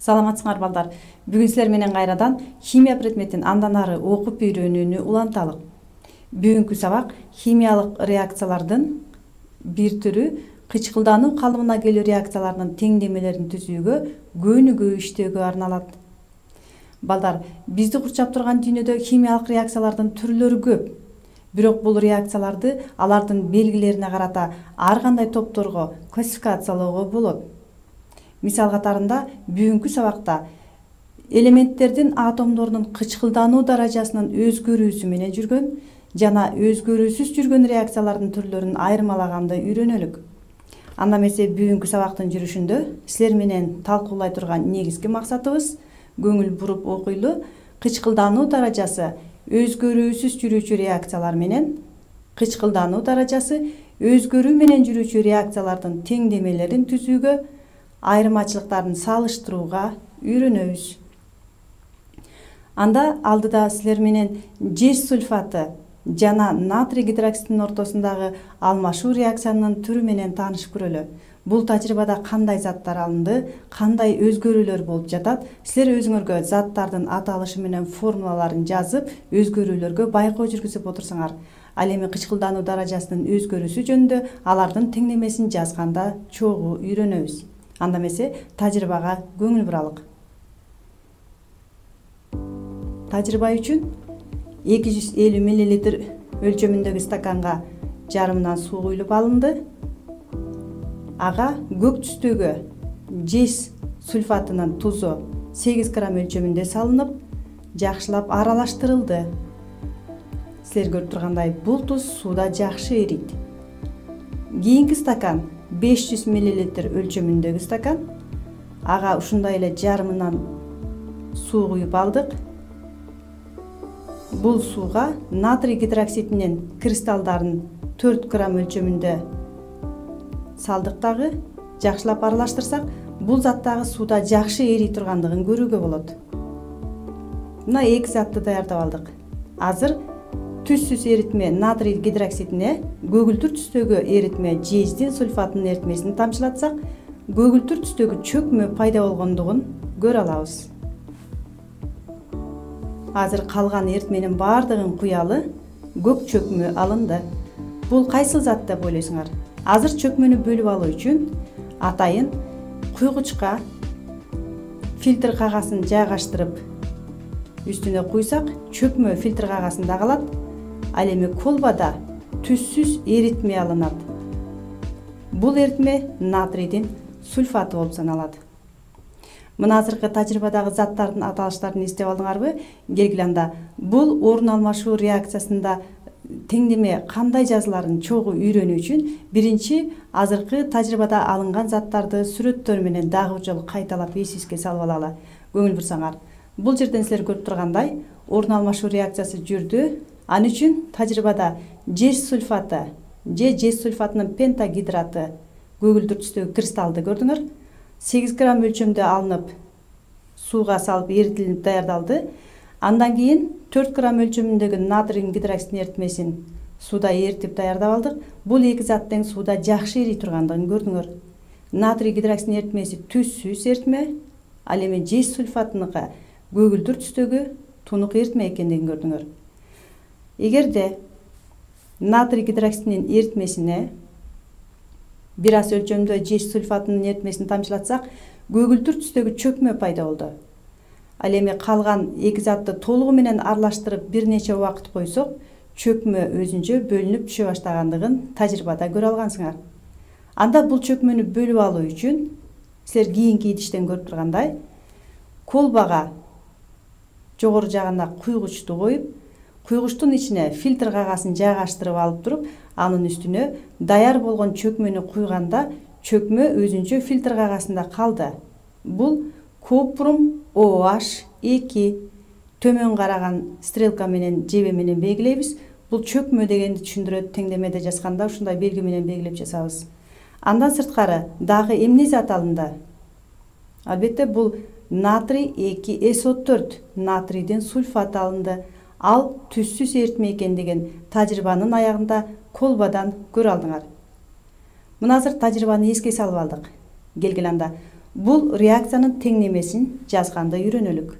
Саламатсыңар балдар. Бүгүн силер менен кайрадан химия предметин андан ары окуп үйрөнүүнү уланталык. Бүгүнкү сабак химиялык реакциялардын бир түрү кычкылдануу калыбына келүү реакцияларынын теңдемелерин түзүүгө, көнүгүү иштөөгө арналат. Балдар, бизди курчап турган дүйнөдө химиялык реакциялардын түрлөрү көп. Бирок бул реакцияларды алардын белгилерине карата ар кандай топторго классификациялоого болот. Мисал катарында бүгүнкү сабакта элементтердин атомдорунун кычкылдануу даражасынын өзгөрүүсү менен жүргөн жана өзгөрүүсүз жүргөн реакциялардын түрлөрүн айырмалаганды үйрөнөлүк. Анда эмесе бүгүнкү сабактын жүрүшүндө силер менен талкуулай турган негизги максатыбыз көңүл буруп окуйлу кычкылдануу даражасы өзгөрүүсүз жүрүүчү реакциялар менен кычкылдануу даражасы өзгөрүү менен жүрүүчү реакциялардын теңдемелерин түзүүгө, айырмачылыктарын салыштырууга үйрөнөбүз. Анда алдыда силер менен жез сульфаты жана натрий гидроксидинин ортосундагы алмашуу реакциянын түрү менен таанышып көрөлү. Бул тажрыйбада кандай заттар алынды, кандай өзгөрүүлөр болуп жатат, силер өзүңөргө заттардын аталышы менен формулаларын жазып, өзгөрүүлөргө байкоо жүргүзүп отурсаңар, ал эми кычкылдануу даражасынын өзгөрүүсү жөнүндө алардын теңдемесин жазганда чогуу үйрөнөбүз. Анда эмесе тажрыйбага көңүл буралык. Тажрыйба үчүн 250 мл өлчөмүндөгү стаканга жарымынан суу куюлуп алынды. Ага көк түстөгү жез сульфатынын тузу 8 грамм өлчөмүндө салынып, жакшылап аралаштырылды. Силер көрүп тургандай, бул туз сууда жакшы эрийт. Кийинки стакан 500 мл өлчөмүндөгү стакан. Ага ушундай эле жарымынан суу куюп алдык. Бул сууга натрий гидроксидинин кристалдарын 4 грамм өлчөмүндө салдык дагы, жакшылап аралаштырсак, бул зат дагы сууда жакшы эрий тургандыгын көрүүгө болот. Мына эки затты даярдап алдык. Азыр түссүз эритме натрий гидроксидине көгүлтүр түстөгү эритме жездин сульфатынын эритмесин тамчылатсак, көгүлтүр түстөгү чөкмө пайда болгондугун көрө алабыз. Азыр калган эритменин баардыгын куялы, көк чөкмө алынды. Бул кайсыл зат деп ойлойсуңар? Азыр чөкмөнү бөлүп алуу үчүн атайын куйгучка фильтр кагасын жайгаштырып үстүнө куйсак, чөкмө фильтр кагасында калат. Ал эми колбада түссүз эритме алынат. Бул эритме натрийдин сульфаты болуп саналат. Мына азыркы тажрыйбадагы заттардын аталыштарын эстеп алдыңарбы? Келгиле анда бул орун алмашуу реакциясында теңдеме кандай жазыларын чогуу үйрөнүү үчүн биринчи азыркы тажрыйбада алынган заттарды сүрөттөр менен дагы бир жолу кайталап эсибизге салып алалы. Көңүл бурсаңар. Бул жерден силер көрүп тургандай, орун алмашуу реакциясы жүрдү. Ал үчүн тажрыйбада жез сульфаты же жез сульфатынын пентагидраты көгүлтүр түстөгү кристалды көрдүңөр. 8 грамм өлчөмдө алынып, сууга салып эритилип даярдалды. Андан кийин 4 грамм өлчөмүндөгү натрий гидроксидин эритмесин сууда эритип даярдап алдык. Бул эки зат тең сууда жакшы эрий тургандыгын көрдүңөр. Натрий гидроксидин эритмеси түссүз эритме, ал эми жез сульфатыныка көгүлтүр түстөгү тунук эритме экендигин көрдүңөр. Эгерде натрий гидроксидинин эритмесине бир аз өлчөмдө жез сульфатынын эритмесин тамчылатсак, көгүлтүр түстөгү чөкмө пайда болду. Ал эми калган эки затты толугу менен аралаштырып бир нече убакыт койсок, чөкмө өзүнчө бөлүнүп түшө баштагандыгын тажрыйбада көрө алгансыңар. Анда бул чөкмөнү бөлүп алуу үчүн силер кийинки идиштен көрүп тургандай, колбага жогору жагына куйгучту коюп, куйгучтун ичине фильтр кагасын жайгаштырып алып туруп, анын үстүнө даяр болгон чөкмөнү куйганда, чөкмө өзүнчө фильтр кагасында калды. Бул купрум OH2 төмөн караган стрелка менен жебе менен белгилейбиз. Бул чөкмө дегенди түшүндүрөт. Теңдемеде жазганда ушундай белги менен белгилеп жазабыз. Андан сырткары дагы эмне зат алынды? Албетте бул натрий 2SO4 натрийдин сульфаты алынды. Ал түссүз эритме экендигин тажрыйбанын аягында колбадан көрө алдыңар. Мына азыр тажрыйбаны эске салып алдык. Келгиле анда Бул реакциянын теңнемесин жазганда үйрөнөлүк.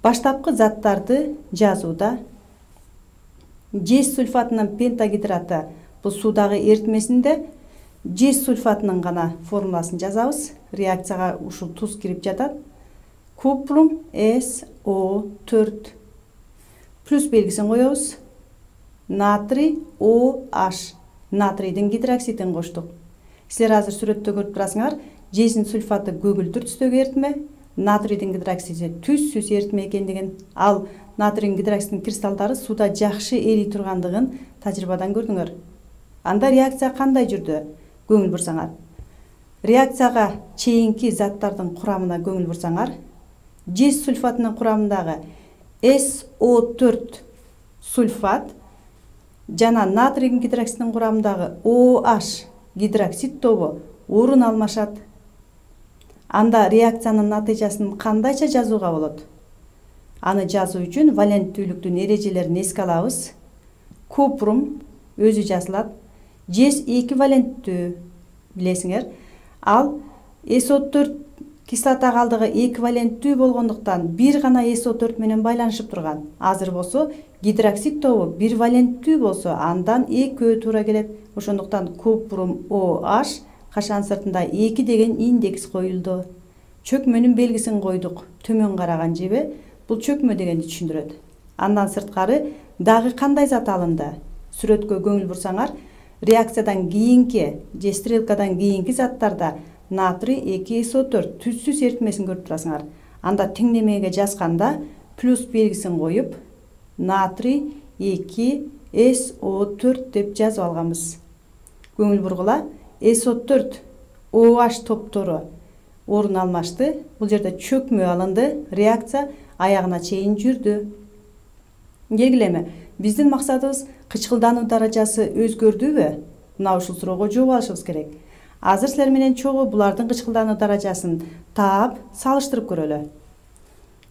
Баштапкы заттарды жазууда жез сульфатынын пентагидраты бул суудагы эритмесинде жез сульфатынын гана формуласын жазабыз. Реакцияга ушул туз кирип жатат. Купрум SO4 плюс белгисин коебуз. Натрий OH. Натрийдин гидроксидин коштук. Силер азыр сүрөттө көрүп турасыңар. Жездин сульфаты көгүлтүр түстөгү эритме, натрийдин гидроксиди түссүз эритме экендигин, ал натрийдин гидроксидин кристалдары сууда жакшы эрий тургандыгын тажрыйбадан көрдүңөр. Анда реакция кандай жүрдү? Көңүл бурсаңар. Реакцияга чейинки заттардын курамына көңүл бурсаңар, жез сульфатынын курамындагы SO4 сульфат жана натрийдин гидроксидинин курамындагы OH гидроксид тобу орун алмашат. Анда реакциянын натыйжасын кандайча жазууга болот? Аны жазуу үчүн валенттүүлүктүн эрежелерин эске алабыз. Купрум өзү жазылат. Жез 2 валенттүү, билесиңер. Ал SO4 кислота калдыгы 2 валенттүү болгондуктан бир гана SO4 менен байланышып турган. Азыр болсо гидроксид тобу 1 валенттүү болсо, андан экөө туура келет. Ошондуктан купрум OH кашан сыртында 2 деген индекс коюлду. Чөкмөнүн белгисин койдук. Төмөн караган жебе бул чөкмө дегенди түшүндүрөт. Андан сырткары дагы кандай зат алынды? Сүрөткө көңүл бурсаңар, реакциядан кийинки же стрелкадан кийинки заттарда натрий 2SO4 түссүз эритмесин көрүп турасыңар. Анда теңнемеге жазганда плюс белгисин коюп, натрий 2SO4 деп жазып алганбыз. Көңүл бургула, SO4 OH топтору орун алмашты. Бул жерде чөкмө алынды, реакция аягына чейин жүрдү. Келгилеме, биздин максатыбыз кычкылдануу даражасы өзгөрдүбү? Мына ушул суроого жооп алышыбыз керек. Азыр силер менен чогуу булардын кычкылдануу даражасын таап, салыштырып көрөлү.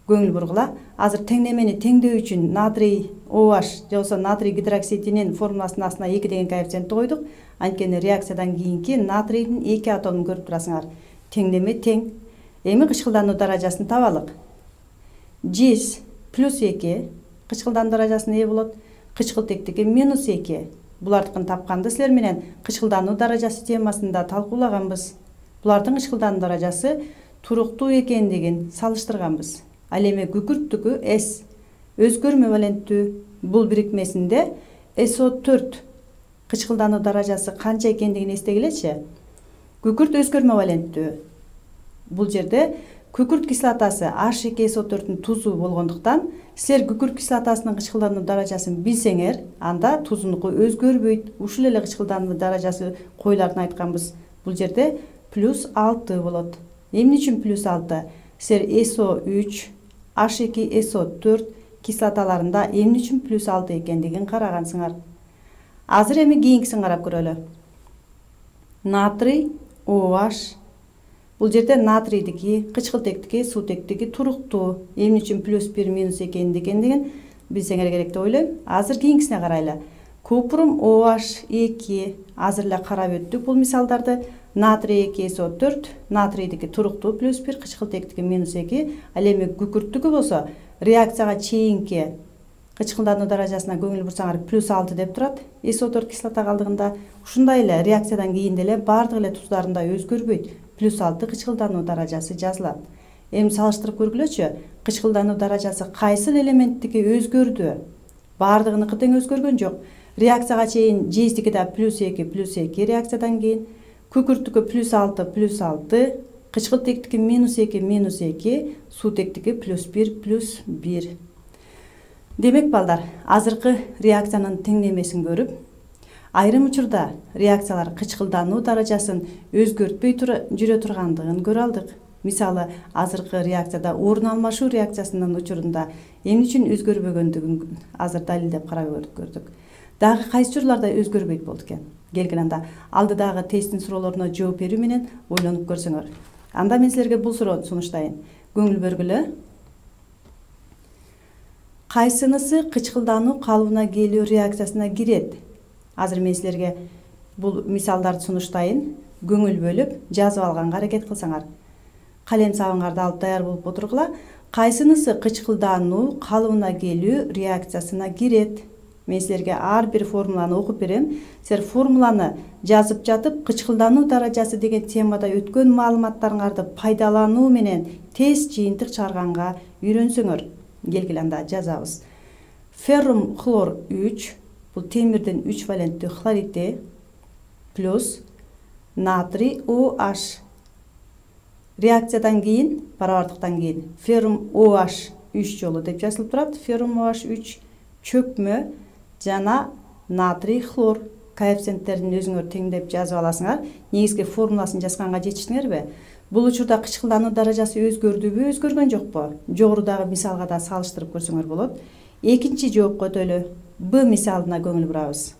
Көңүл бургула, азыр теңнемени теңдөө үчүн натрий OH же болбосо натрий гидроксидинин формуласынын астына 2 деген коэффициентти койдук. Анткени реакциядан кийинки натрийдин 2 атомун көрүп турасыңар. Теңнеме тең. Эми кычкылдануу даражасын табалык. Жез плюс 2 кычкылдануу даражасына ээ болот. Кычкыл тектиги минус 2. Булардыкын тапканды силер менен кычкылдануу даражасы темасында талкуулаганбыз. Булардын кычкылдануу даражасы туруктуу экендигин салыштырганбыз. Ал эми күкүрттүкү S өзгөрмө валенттүү. Бул бирикмесинде SO4 кычкылдануу даражасы канча экендигин эстегилечи. Күкүрт өзгөрмө валенттүү. Бул жерде күкүрт кислотасы H2SO4-тун тузу болгондуктан, силер күкүрт кислотасынын кычкылдануу даражасын билсеңер, анда тузунуку өзгөрбөйт. Ушул эле кычкылдануу даражасы коюларын айтканбыз. Бул жерде плюс 6 болот. Эмне үчүн плюс 6? Силер SO3, H2SO4 кислоталарында эмне үчүн плюс 6 экендигин карагансыңар. Азыр эми кийинкисин карап көрөлү. Натрий OH. Бул жерде натрийдики, кычкыл тектиги, суу тектиги туруктуу. Эмне үчүн плюс 1 минус экендигин билсеңер керек деп ойлойм. Азыр кийинкисине карайлы. Купрум OH2. Азыр эле карап өттүк бул мисалдарды. Натрий 2SO4, натрийдики туруктуу плюс 1, кычкыл тектиги минус 2. Ал эми күкүрттүкү болсо реакцияга чейинки кычкылдануу даражасына көңүл бурсаңар плюс 6 деп турат. SO4 кислота калдыгында ушундай эле реакциядан кийин деле бардык эле туздарында өзгөрбөйт. Плюс 6 кычкылдануу даражасы жазылат. Эми салыштырып көргүлөчү. Кычкылдануу даражасы кайсыл элементтики өзгөрдү? Бардыгыныкы тең өзгөргөн жок. Реакцияга чейин жездики да плюс 2 реакциядан кийин, күкүрттүкү плюс 6, кычкыл тектики минус 2, суу тектики плюс 1. Демек балдар, азыркы реакциянын теңнемесин көрүп, айрым учурда реакциялар кычкылдануу даражасын өзгөртпөй жүрө тургандыгын көрө алдык. Мисалы, азыркы реакцияда орун алмашуу реакциясынын учурунда эмне үчүн өзгөрбөгөндүгүн азыр далилдеп карап көрдүк. Дагы кайсы учурларда өзгөрбөйт болду экен? Келгиле анда алдыдагы тесттин суроолоруна жооп берүү менен ойлонуп көрсөңөр. Анда мен силерге бул суроону сунуштайын. Көңүл бөргүлө. Кайсынысы кычкылдануу калыбына келүү реакциясына кирет? Азыр мен силерге бул мисалдарды сунуштайын. Көңүл бөлүп жазып алганга аракет кылсаңар. калем сабыңарды алып даяр болуп отургула. Кайсынысы кычкылдануу, калыбына келүү реакциясына кирет? Мен силерге ар бир формуланы окуп берем. Силер формуланы жазып жатып, кычкылдануу даражасы деген темада өткөн маалыматтарыңарды пайдалануу менен тез жыйынтык чыгарганга үйрөнсөңөр. Келгиле анда жазабыз. Феррум хлор 3, бул темирдин 3 валенттүү хлорити плюс натрий OH. Реакциядан кийин, барабардыктан кийин феррум OH 3 жолу деп жазылып турат. Феррум OH 3 чөкмө жана натрий хлор коэффициенттерин өзүңөр теңдеп жазып аласыңар. Негизги формуласын жазганга жетиштиңерби? Бул учурда кычкылдануу даражасы өзгөрдүбү, өзгөргөн жокпу? Жогорудагы мисалга да салыштырып көрсөңөр болот. Экинчи жоопко өтөлү. Б мисалына көңүл бурабыз.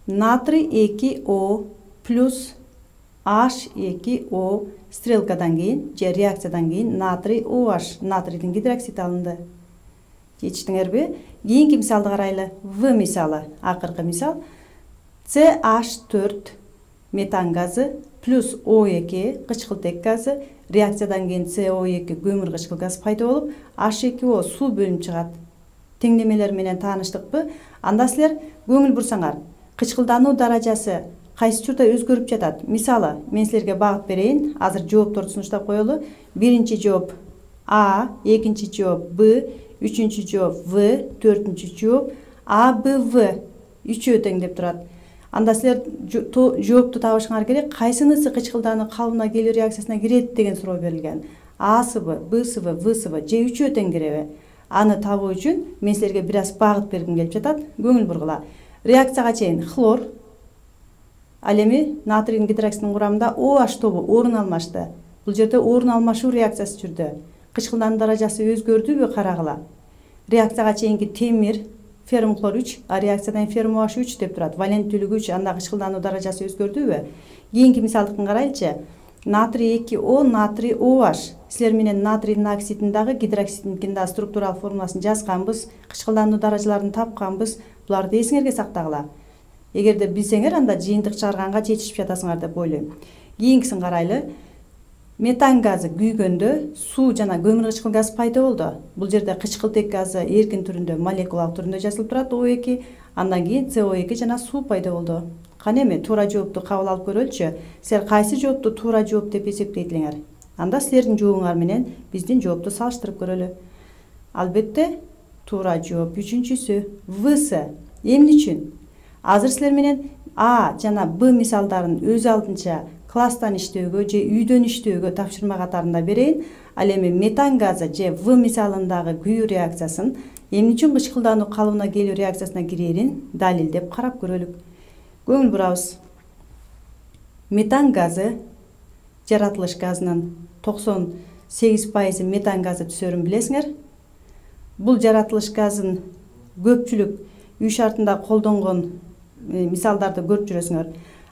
Натрий 2O плюс H2O стрелкадан кийин же реакциядан кийин натрий OH, натрийдин гидроксид алынды. Жетиштиңерби? Кийинки мисалды карайлы. В мисалы, акыркы мисал. CH4 метан газы плюс O2 кычкылтек газы, реакциядан кийин CO2 көмүр кычкыл газ пайда болуп, H2O суу бөлүнүп чыгат. Теңдемелер менен тааныштыкпы? Анда силер көңүл бурсаңар, кычкылдануу даражасы кайсы учурда өзгөрүп жатат? Мисалы, мен силерге багыт берейин. Азыр жоопторду сунуштап коелу. Биринчи жооп А, экинчи жооп Б, үчүнчү жооп В, төртүнчү жооп А, Б, В. Үчөө тең деп турат. Анда силер жоопту табышыңар керек. Кайсынысы кычкылдануу калыбына келүү реакциясына кирет деген суроо берилген. A'сыбы, Б'сыбы, В'сыбы же үчөө тең киреби? Аны табуу үчүн мен силерге бир аз багыт бергим келип жатат. Көңүл бургула. Реакцияга чейин хлор, ал эми натрийдин гидроксидинин курамында OH тобу орун алмашты. Бул жерде орун алмашуу реакциясы жүрдү. Кычкылдануу даражасы өзгөрдүбү карагыла. Реакцияга чейинки темир феррум хлор 3, а реакциядан феррум OH 3 деп турат. Валенттүүлүгү 3, анда кычкылдануу даражасы өзгөрдүбү? Кийинки мисалдыкын карайлычы. Натрий 2O, натрий OH. Силер менен натрийдин оксидин дагы, гидроксиддин дагы структуралык формуласын жазганбыз, кычкылдануу даражаларын тапканбыз. Буларды эсиңерге сактагыла. Эгерде билсеңер, анда жыйынтык чыгарганга жетишип жатасыңар деп ойлойм. Кийинкисин карайлы. Метан газы күйгөндө суу жана көмүр кычкыл газ пайда болду. Бул жерде кычкылтек газы эркин түрүндө, молекулалык түрүндө жазылып турат O2, андан кийин CO2 жана суу пайда болду. Кана эми туура жоопту кабыл алып көрөлүчү. Силер кайсы жоопту туура жооп деп эсептейт элеңер? Анда силердин жообуңар менен биздин жоопту салыштырып көрөлү. Албетте туура жооп үчүнчүсү Вс. Эмне үчүн? Азыр силер менен А жана Б мисалдарын өз алдынча класстан иштөөгө же үйдөн иштөөгө тапшырма катарында берейин. Ал эми метан газы же В мисалындагы күйүү реакциясын эмне үчүн кычкылдануу калыбына келүү реакциясына кирерин далилдеп карап көрөлүк. Көңүл бурабыз. Метан газы жаратылыш газынын 98% метан газы түсөрүн билесиңер. Бул жаратылыш газын көпчүлүк үй шартында колдонгон мисалдарды көрүп жүрөсүңөр.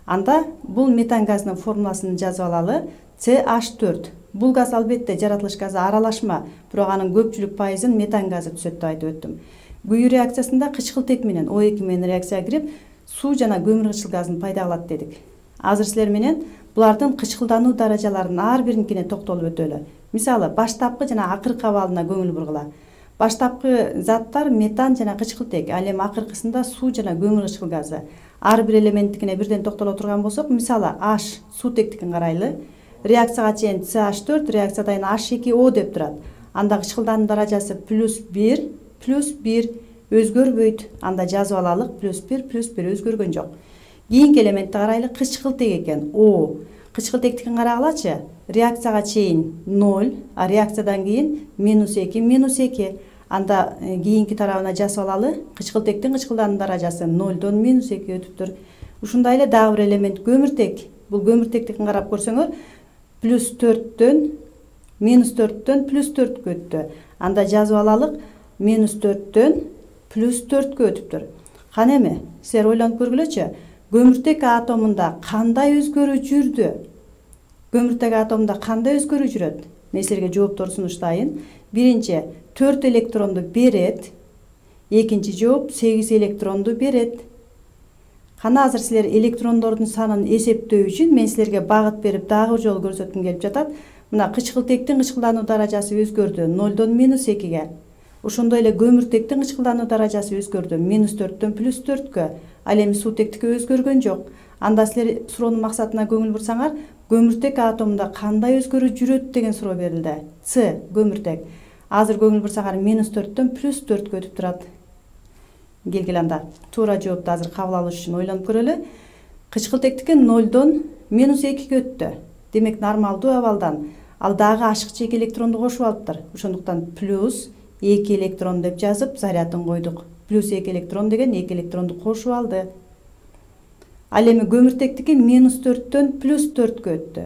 Анда бул метан газынын формуласын жазып алалы. CH4. Бул газ албетте жаратылыш газы аралашма, бирок анын көпчүлүк пайызын метан газы түзөт деп айтып өттүм. Күйүү реакциясында кычкылтек менен O2 менен реакцияга кирип, суу жана көмүр кычкыл газын пайда кылат дедик. Азыр силер менен булардын кычкылдануу даражаларынын ар биринкине токтолуп өтөлү. Мисалы, баштапкы жана акыркы абалына көңүл бургула. Баштапкы заттар метан жана кычкылтек, ал эми акыркысында суу жана көмүр кычкыл газы. Ар бир элементтикине бирден токтоло турган болсок, мисалы H суутектикин карайлы. Реакцияга чейин CH4, реакциядан H2O деп турат. Анда кычкылдануу даражасы +1, +1 өзгөрбөйт. Анда жазып алалык, +1, +1 өзгөргөн жок. Кийинки элементти карайлы, кычкылтек экен. O. Кычкылтектикин карагылачы. Реакцияга чейин 0, а реакциядан кийин -2, -2. Анда кийинки тарабына жазып алалы. Кычкылтектин кычкылдануу даражасы 0дон -2 өтүптүр. Ушундай эле дагы бир элемент көмүртек. Бул көмүртектикин карап көрсөңөр, +4дөн -4дөн +4кө өттү. Анда жазып алалык, -4дөн +4кө өтүптүр. Кана эми силер ойлонуп көргүлөчү. Көмүртек атомунда кандай өзгөрүү жүрдү? Көмүртек атомунда кандай өзгөрүү жүрөт? Мен силерге жоопторду сунуштайын. Биринчи 4 электронду берет. Экинчи жооп 8 электронду берет. Кана азыр силер электрондордун санын эсептөө үчүн мен силерге багыт берип дагы бир жолу көрсөткүм келип жатат. Мына кычкылтектин кычкылдануу даражасы өзгөрдү 0дон -2ге. Ошондой эле көмүртектин кычкылдануу даражасы өзгөрдү 4дөн +4кө. Ал эми суутектики өзгөргөн жок. Анда силер суроонун максатына көңүл бурсаңар, көмүртек атомунда кандай өзгөрүү жүрөт деген суроо берилди. С көмүртек. Азыр көңүл бурсаңар -4дөн +4кө өтүп турат. Келгиле анда туура жоопту азыр кабыл алыш үчүн ойлонуп көрөлү. Кычкылтектики 0дон -2ге өттү. Демек нормалдуу абалдан ал дагы ашыкча 2 электронду кошуп алыптыр. Ошондуктан +2 электрон деп жазып зарядын койдук. +2 электрон деген 2 электронду кошуп алды. Ал эми көмүртектики -4дөн +4кө өттү.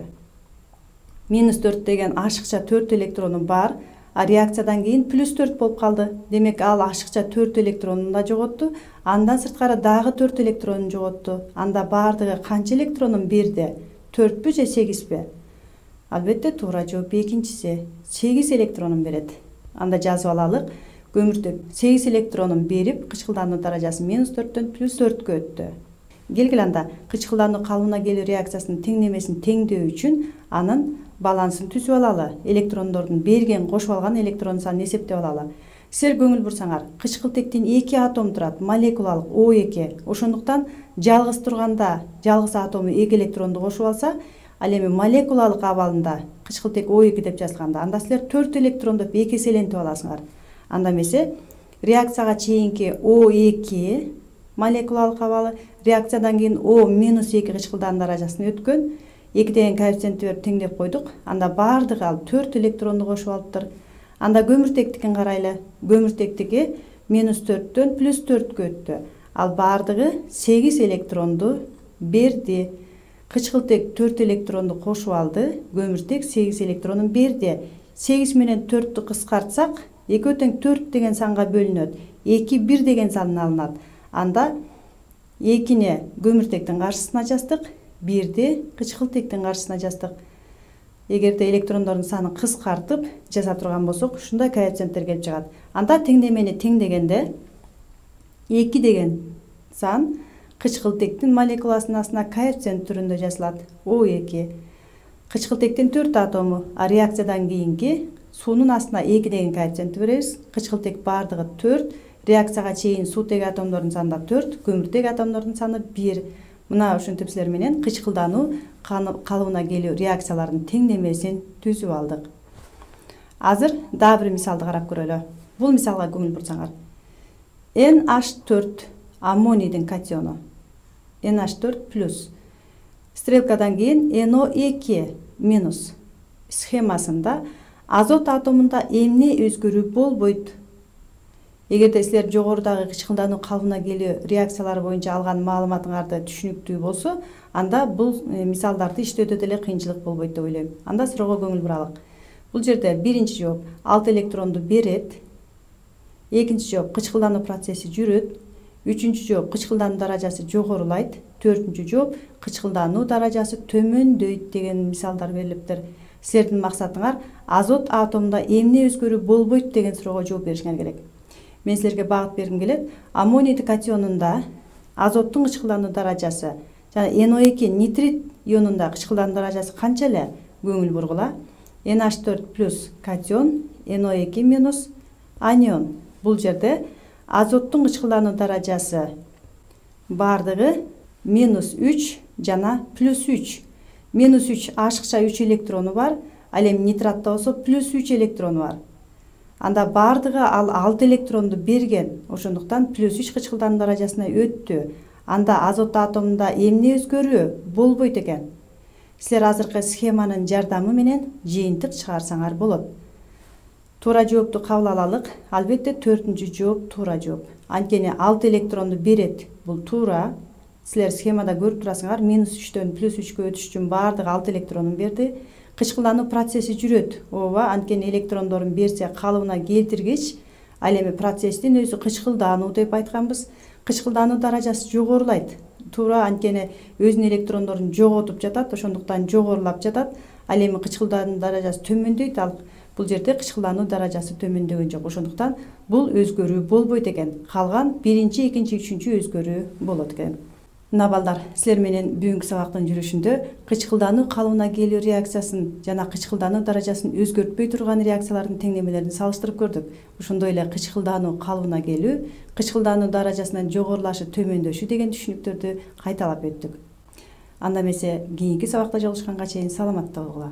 -4 деген ашыкча 4 электрону бар, а реакциядан кийин +4 болуп калды. Демек ал ашыкча 4 электронун да жоготту, андан сырткары дагы 4 электронун жоготту. Анда баардыгы канча электронун берди? 4пү же 8пи? Албетте туура жооп экинчиси. 8 электронун берет. Анда жазып алалык. Көмүртек 8 электронун берип, кычкылдануу даражасы -4дөн +4кө өттү. Келгиле анда кычкылдануу калыбына келүү реакциясынын теңдемесин теңдөө үчүн анын балансын түзүп алалы. Электрондордун берген, кошуп алган электрон санын эсептеп алалы. Силер көңүл бурсаңар, кычкылтектин 2 атом турат, молекулалык O2. Ошондуктан жалгыз турганда, жалгыз атому 2 электронду кошуп алса, ал эми молекулалык абалында кычкылтек O2 деп жазылганда, анда силер 4 электрон деп 2 эселентип аласыңар. Анда эмесе реакцияга чейинки O2 молекулалык абалы, реакциядан кийин O-2 кычкылдануу даражасына өткөн. 2 деген коэффициентти берип теңдеп койдук. Анда баардыгы ал 4 электронду кошуп алыптыр. Анда көмүртектикин карайлы. Көмүртектики -4дөн +4кө өттү. Ал баардыгы 8 электронду берди. Кычкылтек 4 электронду кошуп алды, көмүртек 8 электронун берди. 8 менен 4тү кыскартсак, 2 тең 4 деген санга бөлүнөт. 2 1 деген сан алынат. Анда 2-ни көмүртектин каршысына жаздык, 1-ди кычкылтектин каршысына жаздык. Эгерде электрондордун санын кыскартып жаза турган болсок, ушундай коэффициенттер келип чыгат. Анда теңдемени теңдегенде 2 деген сан кычкылтектин молекуласынын астына коэффициент түрүндө жазылат. O2. Кычкылтектин 4 атому, а реакциядан кийинки суунун астына 2 деген коэффициентти беребиз. Кычкылтек баардыгы 4, реакцияга чейин суутеги атомдордун саны 4, көмүртек атомдордун саны 1. Мына ушинтип силер менен кычкылдануу калыбына келүү реакцияларынын теңдемесин түзүп алдык. Азыр дагы бир мисалды карап көрөлү. Бул мисалга көңүл бурсаңар. NH4 аммонийдин катиону. NH4+. Стрелкадан кийин NO2- схемасында азот атомунда эмне өзгөрүү болбойт? Эгерде силер жогорудагы кычкылдануу калыбына келүү реакциялары боюнча алган маалыматыңарды түшүнүктүү болсо, анда бул мисалдарды иштөөдө деле кыйынчылык болбойт деп ойлойм. Анда суроого көңүл буралык. Бул жерде биринчи жооп 6 электронду берет. Экинчи жооп кычкылдануу процесси жүрөт. Үчүнчү жооп кычкылдануу даражасы жогорулайт. Төртүнчү жооп кычкылдануу даражасы төмөндөйт деген мисалдар берилиптир. Силердин максатыңар азот атомунда эмне өзгөрүү болбойт деген суроого жооп беришиңер керек. Мен силерге багыт бергим келет. Аммонийдин катионунда азоттун кычкылдануу даражасы жана NO2 нитрит ионунда кычкылдануу даражасы канча эле? Көңүл бургула. NH4+ катион, NO2- анион. Бул жерде азоттун кычкылдануу даражасы баардыгы -3 жана +3. -3 ашыкча 3 электрону бар, ал эми нитратта болсо +3 электрону бар. Анда баардыгы ал 6 электронду берген. Ошондуктан +3 кычкылдануу даражасына өттү. Анда азот атомунда эмне өзгөрүү болбойт экен? Силер азыркы схеманын жардамы менен жыйынтык чыгарсаңар болот. Туура жоопту кабыл алалык. Албетте 4-үнчү жооп туура жооп. Анткени 6 электронду берет. Бул туура. Силер схемада көрүп турасыңар, -3дөн +3кө өтүш үчүн баардыгы 6 электронун берди. Кычкылдануу процесси жүрөт. Ооба, анткени электрондорун берсе калыбына келтиргич, ал эми процесстин өзү кычкылдануу деп айтканбыз. Кычкылдануу даражасы жогорулайт. Туура, анткени өзүнүн электрондорун жоготуп жатат, ошондуктан жогорулап жатат. Ал эми кычкылдануу даражасы төмөндөйт. Ал бул жерде кычкылдануу даражасы төмөндөгөн жок. Ошондуктан бул өзгөрүү болбойт экен. Калган биринчи, экинчи, үчүнчү өзгөрүү болот экен. Мына балдар, силер менен бүгүнкү сабактын жүрүшүндө кычкылдануу калыбына келүү реакциясын жана кычкылдануу даражасын өзгөртпөй турган реакциялардын теңдемелерин салыштырып көрдүк. Ошондой эле кычкылдануу калыбына келүү, кычкылдануу даражасынын жогорулашы, төмөндөшү деген түшүнүктөрдү кайталап өттүк. Анда эмесе кийинки сабакта жолугушканга чейин саламатта болгула.